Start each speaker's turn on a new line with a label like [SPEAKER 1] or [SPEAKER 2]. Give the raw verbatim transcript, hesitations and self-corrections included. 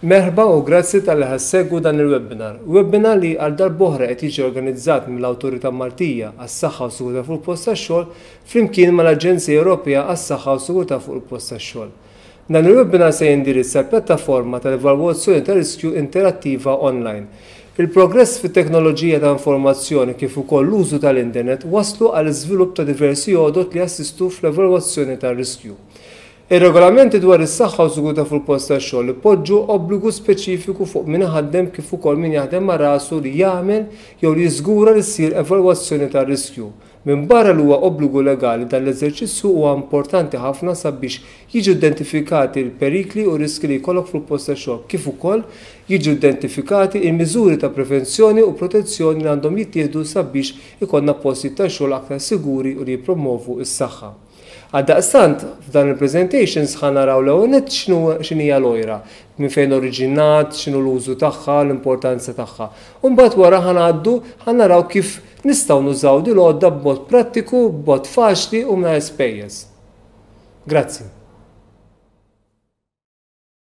[SPEAKER 1] Merħba u grazzi talli ħa ssegwu dan il-webinar. Webinar li għal darb'oħra qed jiġi organizzat mill-Awtorità Maltija għas-Saħħa u Sigurtà fuq il-Post tax-Xogħol flimkien mal-Aġenzija Ewropea għas-Saħħa u Sigurtà fuq il-Post tax-Xogħol. Dan il-webinar se jindirizza l-pjattaforma tal-evalwazzjoni ta' riskju interattiva online. Il-progress fit-teknoloġija ta' informazzjoni kif ukoll l-użu tal-internet waslu għal iżvilupp ta' diversi għodot li jassistu fl-evalwazzjoni tar-riskju. Ir-regolamenti dwar is-saħħa u sigurtà fuq il-post tax-xogħol ipoġġu obbligu speċifiku fuq min iħaddem kif ukoll min jaħdem ma' rasu li jagħmel jew li jiżgura li ssir evalwazzjoni tar-riskju. Minbarra li huwa obbligu legali, dan l-eżerċizzju huwa importanti ħafna sabiex jiġu identifikati l-perikli u riski li jkollok fil-post tax-xogħol, kif ukoll jiġu identifikati il-miżuri ta' prevenzjoni u protezzjoni li għandhom jittieħdu sabiex ikollna postijiet ta' xogħol aktar siguri u li jippromovu s-saħħa. Għaldaqstant, f'dan il-presentations ħa naraw l-ewwel nett x'inhija l-OIRA, minn fejn oriġinat, x'inhu l-użu tagħha, l-importanza tagħha. U mbagħad wara ħa ngħaddu ħa naraw kif nistgħu nużaw din l-għodda b'mod prattiku, b'mod faċli u mingħajr spejjeż. Grazzi.